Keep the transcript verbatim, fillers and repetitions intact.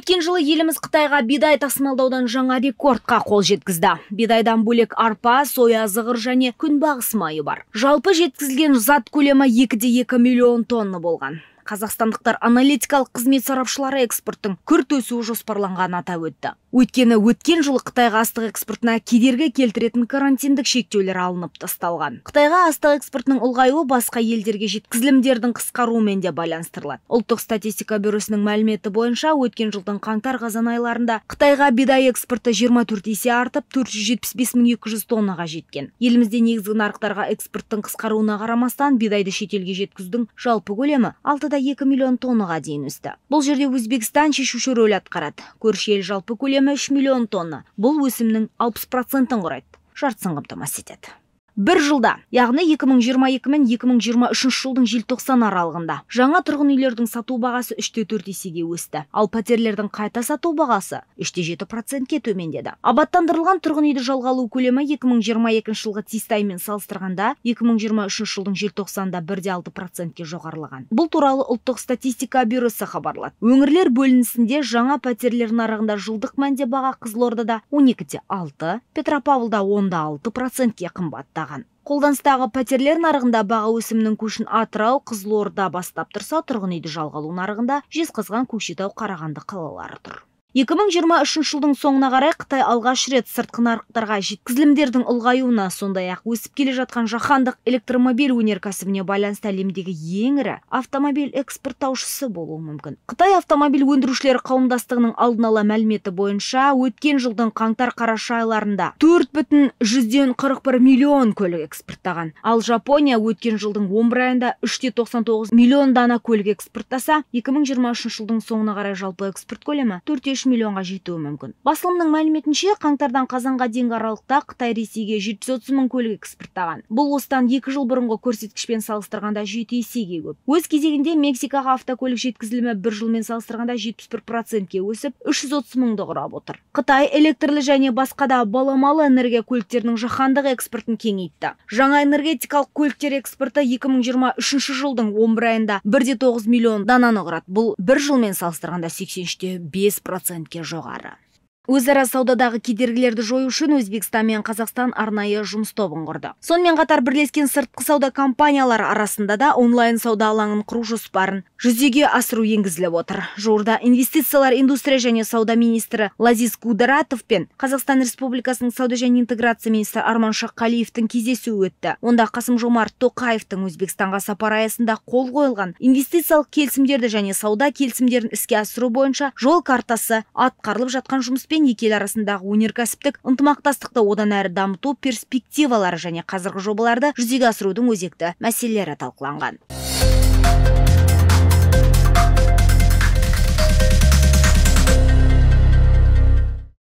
Өткен жылы еліміз Қытайға бидай тасымалдаудан жаңа рекордқа қол жеткізді. Бидайдан бөлек арпа, соя, зығыр және күнбағыс майы бар. Жалпы жеткізілген зат көлемі екі де екі миллион тонна болған. Қазақстандықтар аналитикалық қызмет сарапшылары экспорттың күрт өсуі жоспарланғанын атап өтті. Өйткені өткен жылы Қытайға астық экспортына кедергі келтіретін карантиндік шектеулер алынып тасталған. Қытайға астық экспортының ұлғаюы басқа елдерге жеткізілімдердің қысқаруымен де байланыстырылады. Ұлттық статистика бюросының мәліметі бойынша өткен жылдың қаңтар-қазан айларында Қытайға бидай экспорты жиырма төрт есе артып төрт жүз жетпіс бес мың екі жүз тоннаға жеткен. Елімізде негізгі нарықтарға экспорттың қысқаруына қарамастан бидайды шетелге жеткізудің жалпы көлемі алты да екі миллион тоннаға дейін өсті. Бұл жерде Өзбекстан шешуші рөл атқарады. Көрші ел жалпы көлемі үш миллион тонна. Бұл өсімнің алпыс процентін құрайды. Жартысын қамтамасыз етеді. Бір жылда, яғни екі мың жиырма екі мен екі мың жиырма үшінші жылдың желтоқсан аралығында жаңа тұрғын үйлердің сату бағасы үш те төрт есеге өсті. Ал пәтерлердің қайта сату бағасы үш те жеті процентке төмендеді. Абаттандырылған тұрғын үйді жалға алу көлемі екі мың жиырма екінші жылғы тиісті аймен салыстырғанда екі мың жиырма үшінші жылдың желтоқсанында бір де алты процентке жоғарылаған. Бұл туралы ұлттық статистика бюросы хабарлады. Өңірлер бөлінісінде жаңа пәтерлер нарығында жылдық мәнде баға Қызылордада он екі де алты, Петропавлда он да алты процентке қымбаттаған. Қолданыстағы пәтерлер нарығында баға өсімінің көшін Атырау, Қызылорда бастап тұрса, тұрғын үйді жалға алу нарығында Жезқазған, Көкшетау, Қарағанды қалалары тұр. екі мың жиырма үшінші жылдың соңына қарай Қытай алғаш рет сыртқы нарықтарға жеткізілімдердің ұлғаюына, сондай-ақ өсіп келе жатқан жаһандық электромобиль өнеркәсібіне байланысты әлемдегі ең ірі автомобиль экспорттаушысы болуы мүмкін. Қытай автомобиль өндірушілері қауымдастығының алдын ала мәліметі бойынша өткен жылдың қаңтар-қараша айларында төрт бүтін жүзден қырық бір миллион көлік экспорттаған. Ал Жапония өткен жылдың он бір айында үш те тоқсан тоғыз миллион дана көлік экспорттаса, екі мың жиырма үшінші жылдың соңына қарай жалпы экспорт көлемі төрт те үш миллионға жетуі мүмкін. Басылымның мәліметінше, қаңтардан қазанға дейінгі аралықта Қытай Ресейге жеті жүз отыз мың көлік экспорттаған. Бұл осыдан екі жыл бұрынғы көрсеткішпен салыстырғанда жеті есеге көп. Өз кезегінде Мексикаға автокөлік жеткізілімі бір жылмен салыстырғанда жетпіс бір процентке өсіп, үш жүз отыз мыңды құрап отыр. Қытай электрлі және басқа да баламалы энергия көліктерінің жаһандық экспортын кеңейтті. Жаңа энергетикалық көліктер экспорты екі мың жиырма үшінші жылдың он бір айында бір де тоғыз миллион дананы құрады. Бұл бір жылмен салыстырғанда сексен үш те бес процентке жоғары. Өзара саудадағы кедергілерді жою үшін Өзбекстан мен Қазақстан арнайы жұмыс тобын құрды. Сонымен қатар бірлескен сыртқы сауда компаниялары арасында да онлайн сауда алаңын құру жоспарын жүзеге асыру енгізіліп отыр. Жуырда инвестициялар, индустрия және сауда министрі Лазиз Гудератов пен Қазақстан Республикасының сауда және интеграция министрі Арман Шаққалиевтің кездесуі өтті. Онда Қасым-Жомарт Тоқаевтың Өзбекстанға сапары аясында қол қойылған инвестициялық келісімдерді және сауда келісімдерін іске асыру бойынша жол картасы, атқарылып жатқан жұмыспен екі ел арасындағы өнеркәсіптік ынтымақтастықты одан әрі дамыту перспективалары және қазіргі жобаларды жүзеге асырудың өзекті мәселелері талқыланған.